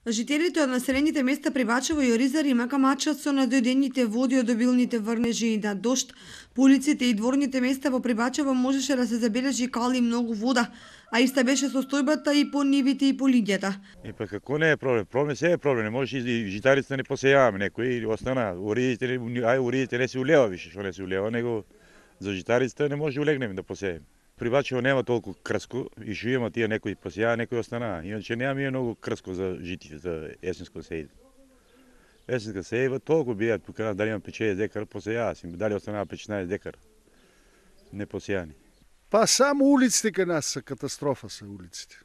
Жителите од населените места Прибачево и Оризари макамачат со надојдените води од обилните врнежи и на дожд. По улиците и дворните места во Прибачево можеше да се забележи кали многу вода, а иста беше состојбата и по нивите и по лиѓата. Па како не е проблем? Проблем се е проблем. Не може и житарите да не посејаваме некои или остана. Уридите не се улева више, што не се улева, него за житарите не може улегнеме да посееме. Прибачево нема толку крско и што има тие некои посеја, некои останаа. Иначе нема многу крско за жити, за есенско сејба. Есенска сејба толку бијат тука, дали има 5-6 декар посеја, дали останаа 15 декар не посејани. Па само улиците кај нас се катастрофа се улиците.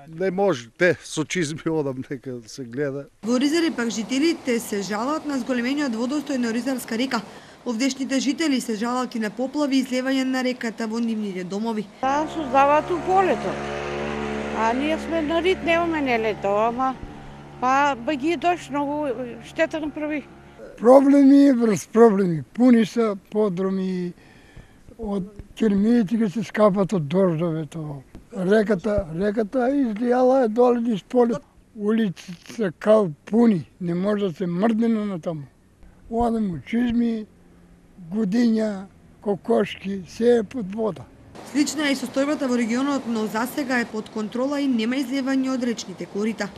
Не може, со чизми одам нека се гледа. Во Оризари пак жителите се жалат на зголемениот водостој на Оризарска река. Овдешните жители се жалат и на поплави и излевање на реката во нивните домови. Таа создаваат у полето. А ние сме на рит, немаме не лето, ама па ги дошли многу штета направи. Проблеми врз проблеми. Пуни се подроми од кермиите се скапат од дождовето. Реката излијала е доле низ полето. Улиците се кал пуни, не може да се мрдне на таму. Одам у чизми, годиња, кокошки, се е под вода. Слична е и состојбата во регионот, но засега е под контрола и нема излевање од речните корита.